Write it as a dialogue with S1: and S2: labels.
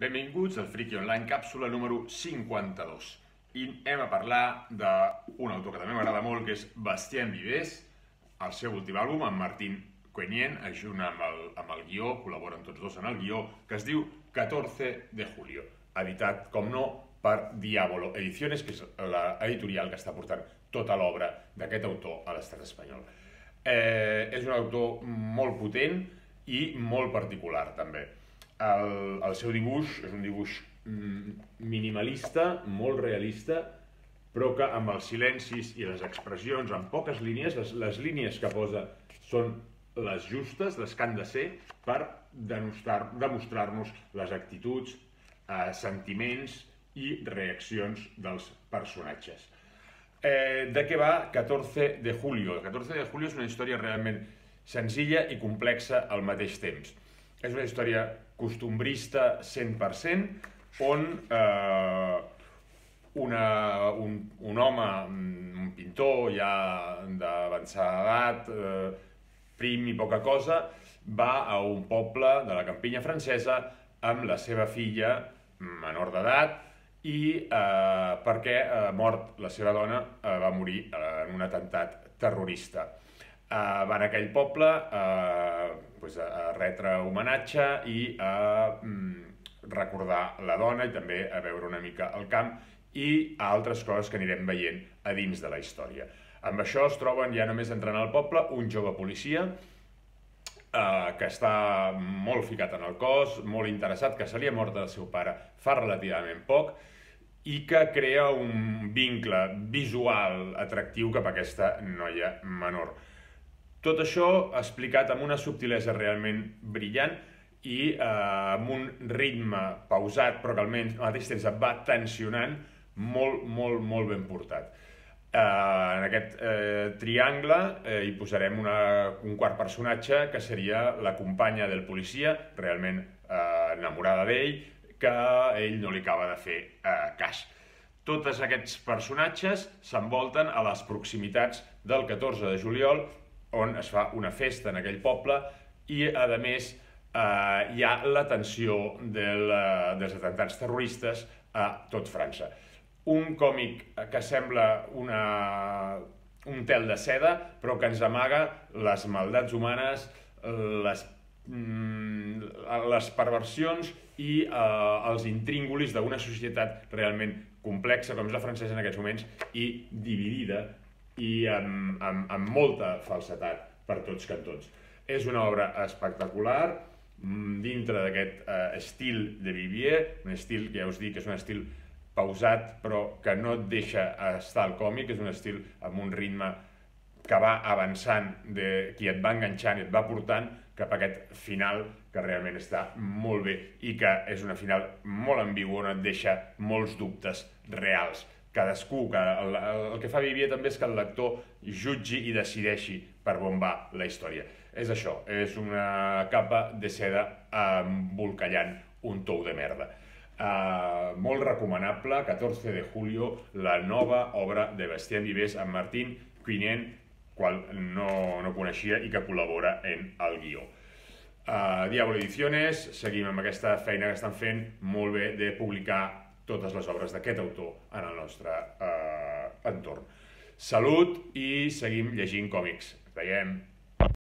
S1: Benvinguts al Friki Online, càpsula número 52. I hem a parlar d'un autor que també m'agrada molt, que és Bastien Vives, el seu últim àlbum, amb Martín Quenien, junt amb el guió, col·laboren tots dos en el guió, que es diu 14 de julio, editat, com no, per Diavolo Ediciones, que és l'editorial que està portant tota l'obra d'aquest autor a l'estat espanyol. És un autor molt potent i molt particular, també. El seu dibuix és un dibuix minimalista, molt realista, però que amb els silencis i les expressions, amb poques línies, les línies que posa són les justes, les que han de ser, per demostrar-nos les actituds, sentiments i reaccions dels personatges. De què va 14 de julio? 14 de julio és una història realment senzilla i complexa al mateix temps. És una història costumbrista 100%, on un home, un pintor ja d'avançada edat, prim i poca cosa, va a un poble de la campinya francesa amb la seva filla menor d'edat i perquè, mort la seva dona, va morir en un atemptat terrorista. Van a aquell poble a retre homenatge i a recordar la dona i també a veure una mica el camp i a altres coses que anirem veient a dins de la història. Amb això es troben, ja només entrant al poble, un jove policia que està molt ficat en el cos, molt interessat, que se li ha mort el seu pare fa relativament poc i que crea un vincle visual atractiu cap a aquesta noia menor. Tot això explicat amb una subtilesa realment brillant i amb un ritme pausat, però que al mateix temps et va tensionant, molt ben portat. En aquest triangle hi posarem un quart personatge, que seria la companya del policia, realment enamorada d'ell, que ell no li acaba de fer cas. Tots aquests personatges s'envolten a les proximitats del 14 de juliol, on es fa una festa en aquell poble i, a més, hi ha la tensió dels atemptats terroristes a tot França. Un còmic que sembla un tel de seda, però que ens amaga les maldats humanes, les perversions i els intríngulis d'una societat realment complexa, com és la francesa en aquests moments, i dividida i amb molta falsedat per tots cantons. És una obra espectacular, dintre d'aquest estil de Vivier, un estil que ja us dic que és un estil pausat, però que no et deixa estar al còmic, és un estil amb un ritme que va avançant, que et va enganxant i et va portant cap a aquest final que realment està molt bé i que és una final molt ambigua, on et deixa molts dubtes reals. Cadascú, el que fa Vivier també és que el lector jutgi i decideixi per on va la història. És això, és una capa de seda embolcallant un tou de merda. Molt recomanable, 14 de julio, la nova obra de Bastien Vives amb Martín Quenien, qual no coneixia i que col·labora en el guió. Diavolo Ediciones, seguim amb aquesta feina que estan fent molt bé de publicar totes les obres d'aquest autor en el nostre entorn. Salut i seguim llegint còmics. Ens veiem!